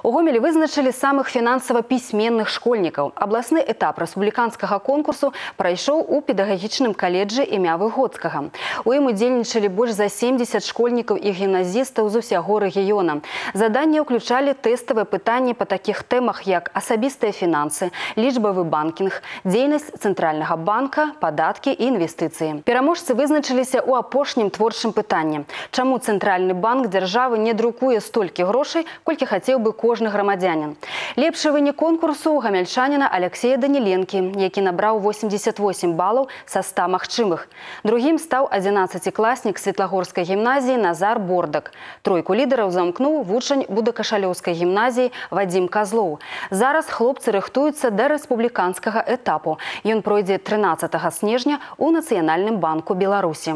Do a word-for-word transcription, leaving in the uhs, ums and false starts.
У Гомелі вызначылі самых фінансава пісьменных школьнікаў. Абласны этап рэспубліканскага конкурсу прайшоў у педагагічным каледжы імя Выгодскага. У ім удзельнічалі больш за семдзесят школьнікаў і гімназістаў з усяго рэгіёна. Заданні ўключалі тэставыя пытанні па такіх тэмах, як асабістыя фінансы, лічбавы банкінг, дзейнасць цэнтральнага банка, падаткі і інвестыцыі. Пераможцы вызначыліся ў апошнім творчым пытанні. Чаму цэнтральны банк дзяржавы не друкуе столькі грошай, колькі хацеў бы кожны грамадзянін? Лепшы вынік конкурсу у гамяльчаніна Алексея Даніленкі, які набраў восемьдесят восемь балаў са ста магчымых. Другім стаў адзінаццацікласнік Светлагорскай гімназіі Назар Бордак. Тройку лідараў замкнуў вучань Будакашалёўскай гімназіі Вадзім Казлоў. Зараз хлопцы рыхтуюцца да рэспубліканскага этапу. Ён пройдзе трынаццатага снежня у Нацыянальным банку Беларусі.